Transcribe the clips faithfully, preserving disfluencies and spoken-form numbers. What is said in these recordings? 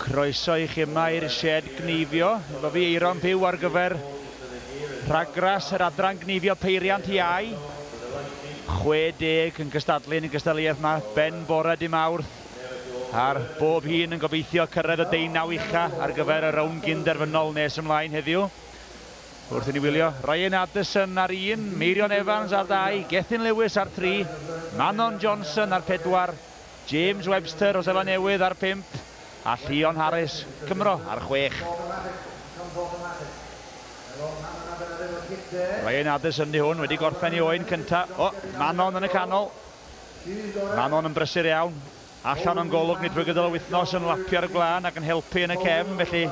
Croeso i chi yma i'r sied gneifio. Efo fi Eiron Pugh ar gyfer rhagras yr adran gneifio peiriant iau. chwe deg yn cystadlu yn y gystadleuaeth yma, ben bore dy Mawrth. A'r bob hun yn gobeithio cyrraedd y deunaw ucha ar gyfer y rownd gynderfynol nes ymlaen heddiw. Wrth i ni wylio, Ryan Addison ar un, Meirion Evans ar dau, Gethin Lewis ar tri, Manon Johnson ar pedwar, James Webster o Seland Newydd ar pump, a Llion Harris, Cymro, ar chwech. Ryan Addison di hwn, wedi gorffen ei oen cynta. O, Manon yn y canol. Manon yn brysur iawn. Allan o'n golwg ni drwy gydol y wythnos yn lapio'r gwlân ac yn helpu yn y cefn, felly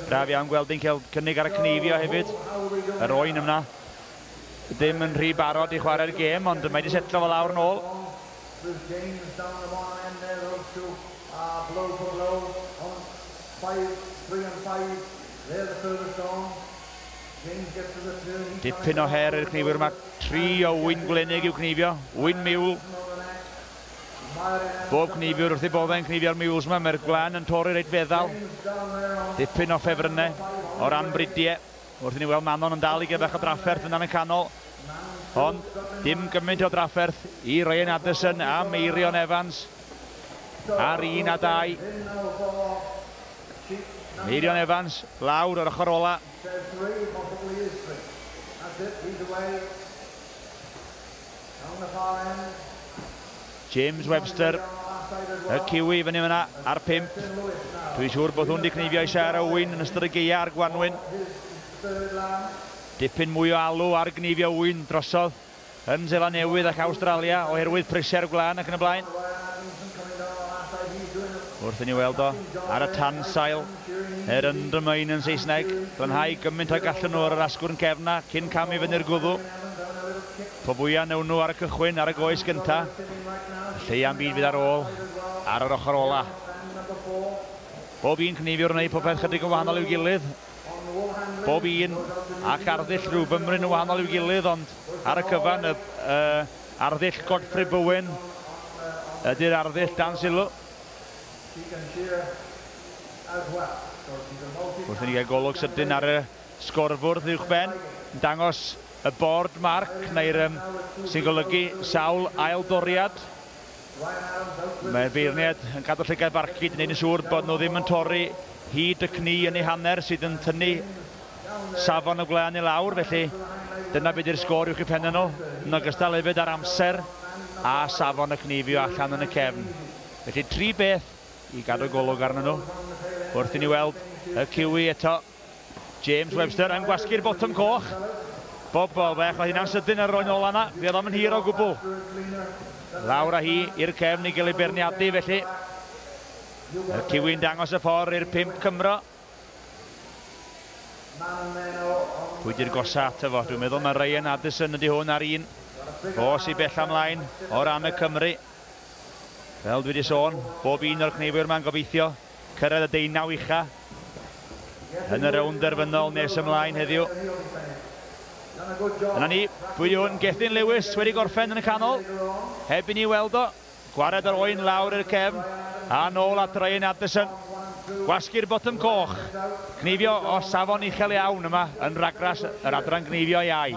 braf iawn gweld hi'n cael cynnig ar y cneifio hefyd. Yr oen yna ddim yn rhy barod i chwarae'r gêm, ond mae wedi setlo fo lawr yn ôl. James down the bottom end there, those two are blow for blow on five, three and five. They're the furthest on. James gets to the turn. He's Dipyn o her i'r cneifwyr yma. Tri o ŵyn gwlenig i'w cneifio. Ŵyn miwl. Bob cneifiwr wrth ei boddau'n cneifio'r mules yma. Mae'r gwlân yn torri reit feddal. Dipyn o ffefrynnau o ran bridiau. Wrth i ni weld Manon yn dal i gael bach o drafferth yn y canol. Ond dim gymaint o drafferth i Ryan Addison a Meirion Evans ar un a dau. Meirion Evans lawr o'r ochr ola. Says three, possibly is three. That's it, he's away. Down the far end. James Webster, y Kiwi fyny fyna ar pump. Dwi'n siŵr bod hwn wedi cneifio i Sarah ŵyn yn ystod y gaea a'r gwanwyn. Dipyn mwy o alw ar gneifio ŵyn drosodd yn Seland Newydd ac Awstralia oherwydd prisiau'r gwlân ac yn y blaen. Wrth i ni weld o ar y tansail, yr undermine yn Saesneg, glanhau gymaint o gallen nhw ar yr asgwrn cefna cyn camu fyny'r gwddw. Po fwyaf newn nhw ar y cychwyn, ar y goes gynta, lleia'n byd fydd ar ôl ar yr ochr ola. Bob un cneifiwr yn gwneud popeth chydig yn wahanol i'w gilydd. Bob un ac arddull rhyw fymryn yn wahanol i'w gilydd, ond ar y cyfan, y, y arddull Godfrey Bowen ydy'r arddull dan sylw. Wrth i ni gael golwg sydyn ar y sgorfwrdd uwchben, yn dangos y board mark, neu'r um, sy'n golygu sawl ail doriad. Mae'r beirniad yn cadw llygad barcud yn neud yn siŵr bod nhw ddim yn torri hyd y cni yn ei hanner sydd yn tynnu safon y gwlân i lawr, felly dyna beth yw'r sgôr uwch eu pennau nhw, yn ogystal hefyd ar amser a safon y cneifio allan yn y cefn. Felly tri beth i gadw golwg arnyn nhw. Wrth i ni weld y Kiwi eto, James Webster yn gwasgu'r botwm coch. Bob bol bech, oedd hynna'n sydyn ar roi'n ola yna, fi oedd o'm yn hir o gwbl. Lawr â hi i'r cefn i gael ei beirniadu felly. Y Kiwi'n dangos y ffordd i'r pump Cymro. Pwy di'r gosa ato fo? Dwi'n meddwl mae Ryan Addison ydy hwn ar un. O sy bell ymlaen o ran y Cymru. Fel dwi wedi sôn, bob un o'r cneifwyr yma'n gobeithio cyrraedd y deunaw ucha yn y rownd derfynol nes ymlaen heddiw. Yna ni, pwy di hwn? Gethin Lewis wedi gorffen yn y canol. Heb i ni weld o. Gwared yr oen lawr i'r cefn. A nôl at Ryan Addison. Gwasgu'r botwm coch. Cneifio o safon uchel iawn yma yn ragras yr adran gneifio iau.